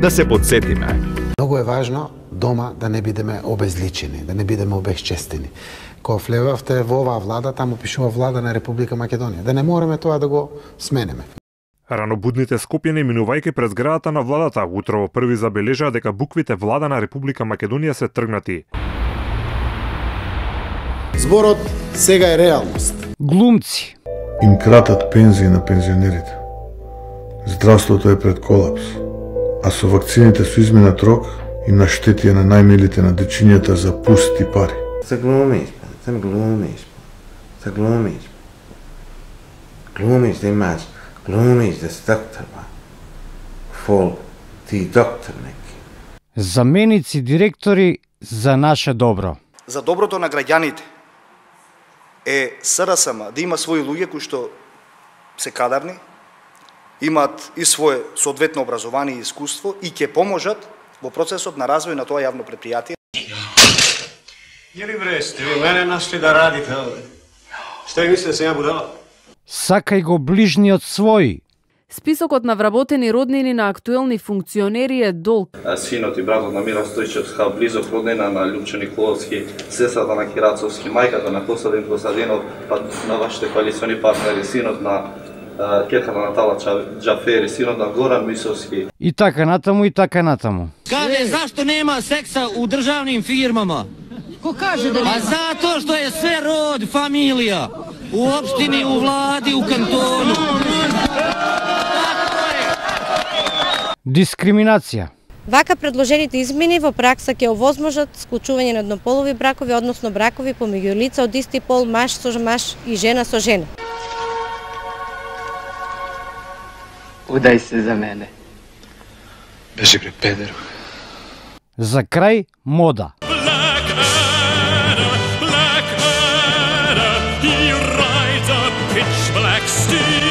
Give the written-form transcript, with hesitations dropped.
Да се подсетиме. Многу е важно дома да не бидеме обезличени, да не бидеме обезчестени. Кога влевавте во оваа влада, таму пишува влада на Република Македонија. Да не мораме тоа да го сменеме. Ранобудните скопјани минувајќи през зградата на владата, утрово први забележаа дека буквите влада на Република Македонија се тргнати. Зборот сега е реалност. Глумци им кратат пензии на пензионерите. Здравството е пред колапс, а со вакцините со изминат рок им наштетија на најмилите на дечињата за пусти пари. Се глумиш, да имаш, глумиш да си доктор, фол, ти доктор неки. заменици директори за наше добро. За доброто на граѓаните е СРСМ да има своји луѓе кои што се кадарни, имаат и свое соодветно образование и искуство и ќе поможат во процесот на развој на тоа јавно предпријатие. Јели бре, сте ви мене нашли да радите овде? Што ви мислите да се ја будала? Сакај го ближниот свој. Списокот на вработени роднини на актуелни функционери е долг. Синот и братот на Мира Стојчевска, близок роднина на Љупчо Николовски, сестрата на Кирацовски, мајката на Костадин Костадинов, па на вашите коалициони партнери, синот на кејката на Тала Џафери, синот на Горан Мисовски. И така натаму, и така натаму. Каде, зашто нема секса у државним фирмама? Ко каже да нема? А затоа што е све род, фамилија. У општини, у влади, у кантону. Дискриминација. Вака предложените измени во пракса ќе овозможат склучување на еднополови бракови, односно бракови помеѓу лица од исти пол, маж со маж и жена со жена. Удај се за мене. Бежи бре, педеро. За крај мода. Black Adder, he rides a pitch black steed.